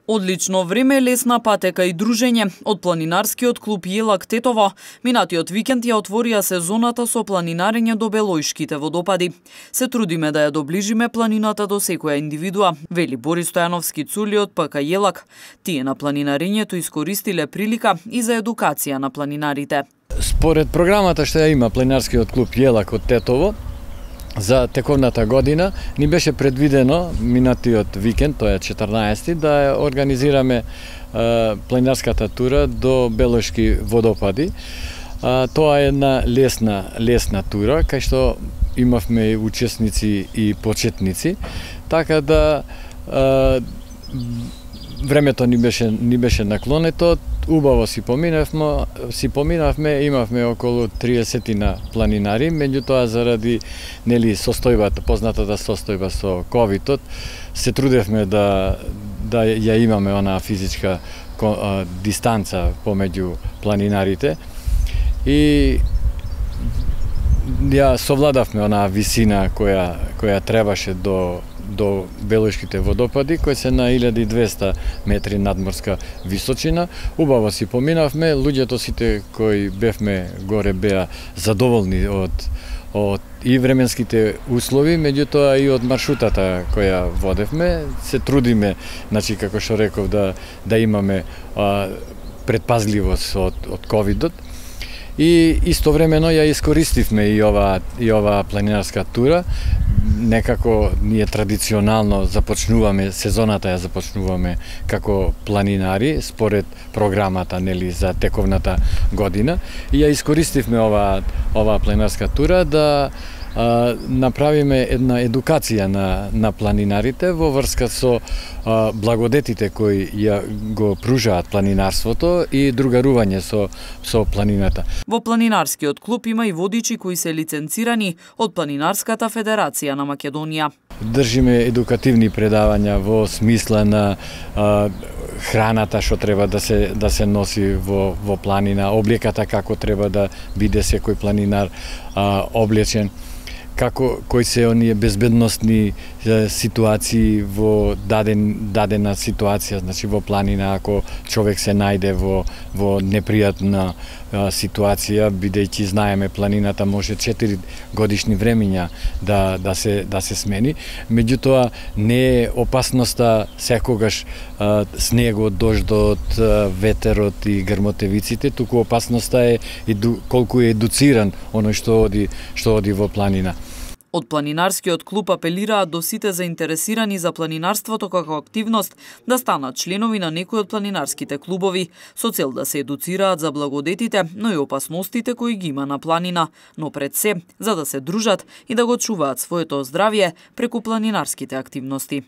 Одлично време, лесна патека и дружење од планинарскиот клуб Јелак Тетово. Минатиот викенд ја отворија сезоната со планинарење до Белоишките водопади. Се трудиме да ја доближиме планината до секоја индивидуа, вели Борис Стојановски Цули од ПК Јелак. Тие на планинарењето искористиле прилика и за едукација на планинарите. Според програмата што ја има планинарскиот клуб Јелак од Тетово, за тековната година ни беше предвидено минатиот викенд, тоа е 14-ти, да ја организираме планинарската тура до Белоишки водопади. Тоа е една лесна тура, кај што имавме учесници и почетници, така да времето ни беше наклонето. Убаво си поминавме, имавме околу 30 планинари, меѓутоа заради состојбата, познатата состојба со ковидот, се трудевме да ја имаме онаа физичка дистанца помеѓу планинарите и ја совладавме онаа висина која требаше до Белоишките водопади, кои се на 1200 метри надморска височина. Убаво си поминавме, луѓето сите кои бевме горе беа задоволни од и временските услови, меѓутоа и од маршрутата која водевме. Се трудиме, значи како што реков, да имаме предпазливост од ковидот. И истовремено ја искористивме и ова планинарска тура. Некако ние традиционално сезоната ја започнуваме како планинари според програмата за тековната година и ја искористивме ова планинарска тура да направиме една едукација на планинарите во врска со благодетите кои ја го пружаат планинарството и другарување со планината. Во планинарскиот клуб има и водичи кои се лиценцирани од Планинарската федерација на Македонија. Држиме едукативни предавања во смисла на храната што треба да се носи во планина, облеката како треба да биде секој планинар облечен, кои се оние безбедносни ситуации во дадена ситуација, значи во планина, ако човек се најде во непријатна ситуација, бидејќи знаеме планината може 4 годишни времиња да се смени, меѓутоа не е опасноста секогаш снегот, дождот, ветерот и грмотевиците, туку опасноста е колку е едуциран оној што оди во планина. Од планинарскиот клуб апелираат до сите заинтересирани за планинарството како активност да станат членови на некои од планинарските клубови, со цел да се едуцираат за благодетите, но и опасностите кои ги има на планина, но пред се, за да се дружат и да го чуваат своето здравје преку планинарските активности.